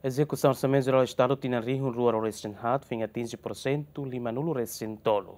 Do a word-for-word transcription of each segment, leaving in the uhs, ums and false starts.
Ezekusaun Orsamentu Jerál Estadu tinan rihun rua ruanulu-resin-haat foin atinje porsentu limanulu-resin-tolu.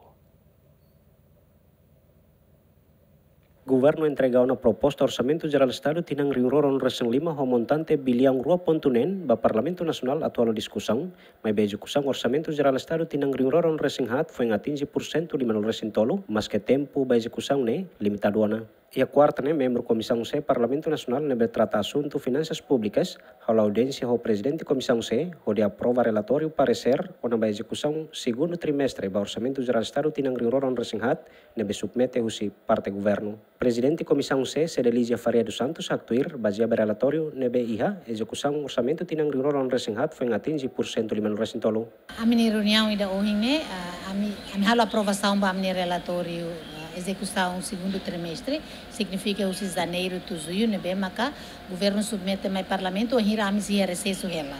Governu entrega ona proposta Orsamentu Jerál Estadu tinan rihun rua ruanulu-resin-lima ho montante biliaun rua pontu neen ba Parlamentu Nasionál atu halo diskusaun, maibé ezekusaun Orsamentu Jerál Estadu tinan rihun rua ruanulu-resin-haat foin atinje porsentu limanulu-resin-tolu, maske tempu ba ezekusaun ne'e limitadu ona. Iha kuarta ne'e, membru Komisaun C Parlamentu Nasionál ne'ebé trata asuntu finansas públikas halo audiénsia ho Prezidente Komisaun C, hodi aprova relatóriu paresér kona-ba ezekusaun segundu trimestre ba Orsamentu Jerál Estadu tinan rihun rua ruanulu-resin-haat ne'ebé submete husi parte governu. Prezidente Komisaun C, Cedelizia Faria dos Santos, haktuir, bazeia ba relatóriu ne'ebé iha, ezekusaun orsamentu tinan rihun rua ruanulu-resin-haat foin atinje porsentu limanulu-resin-tolu. Ami-nia reuniaun ida ohin ne'e, ah, ami, ami halo aprovasaun ba ami-nia relatóriu, ah, ezekusaun segundu trimestre, signifika husi janeiru to'o juñu, ne'ebé maka governu submete mai Parlamentu, wainhira ami sei iha resesu hela.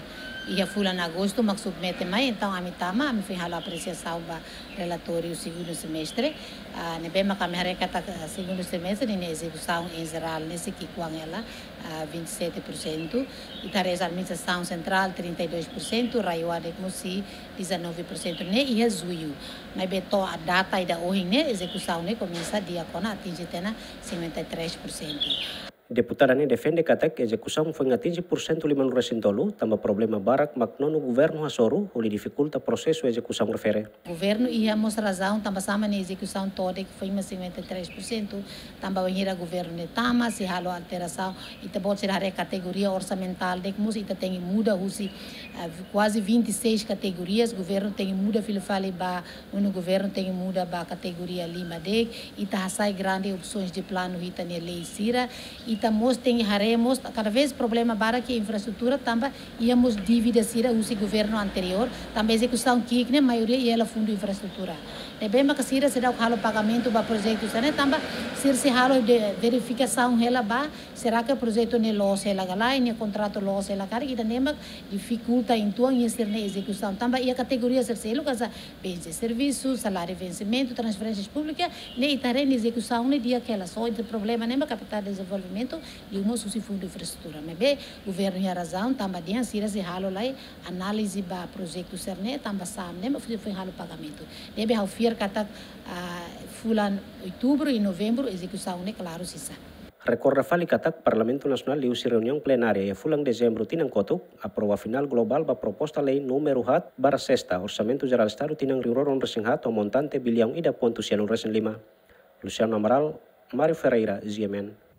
Iha fulan agostu mak submete mai, entaun ami tama, ami foin halo apresiasaun ba relatóriu segundu semestre. Ah, ne'ebé maka ami haree katak, ah, segundu semestre ninia ezekusaun em geral ne'e sei ki'ikoan hela, ah, vinte e sete por cento. Ita haree administrasaun sentrál trinta e dois por cento, RAEOA de'it mós sei dezanove por cento ne'e iha juñu. Maibé to'o data ida ohin ne'e, ezekusaun ne'e komesa di'ak ona, atinje tiha ona cinquenta e três por cento. Deputada ne'e defende katak ezekusaun foin atinje porsentu limanulu-resin-tolu, tanba problema barak mak nonu governu hasoru, hodi difikulta prosesu ezekusaun refere. Governu iha mós razaun, tanba sá mak nia ezekusaun to'o de'it foin mak cinquenta e três por cento, tanba wainhira governu ne'e tama, sei halo alterasaun, ita-boot sira haree kategoria orsamentál de'it mós, ita tenke muda husi, ah, kuaze vinte e seis kategorias, governu tenke muda fila fali ba, nonu governu tenke muda ba kategoria lima de'it, ita hasai grande opsoens de planu iha ita-nia lei sira, ita mós tenke haree mós, kada vez problema barak iha infraestrutura, tanba iha mós dívida sira husi governu anteriór, tanba ezekusaun ki'ik ne'e maioria iha hela fundu infraestrutura. Ne'ebé maka sira seidauk halo pagamentu ba projetu sira-ne'e, tanba sira sei halo de verifikasaun hela ba, será que projetu ne'e loos hela ka lae, nia kontratu loos hela karik, ida-ne'e mak difikulta uitoan iha sira-nia ezekusaun. Tanba iha kategoria sira seluk, hanesan bens de serviço, saláriu vensimentu, transferénsias públikas, ne'e ita haree nia ezekusaun ne'e di'ak hela, só ita problema ne'e mak kapital dezenvolvimentu, liu mós husi fundu infraestrutura. Maibé governu iha razaun, tanba dehan sira sei halo lai análize ba projetu sira-ne'e, tanba sá mak ne'e mak foin, foin halo pagamentu. Ne'ebé ha'u fiar katak, ah, fulan outubru i novembru ezekusaun ne'e klaru sei sa'e. Rekorda fali katak Parlamentu Nasionál liuhusi reuniaun plenária iha fulan dezembru tinan kotuk, aprova finál globál ba proposta lei númeru haat barra sesta, Orsamentu Jerál Estadu tinan rihun rua ruanulu-resin-haat ho montante biliaun ida pontu sianulu-resin-lima. Luciano Amaral, Mário Ferreira, G M N.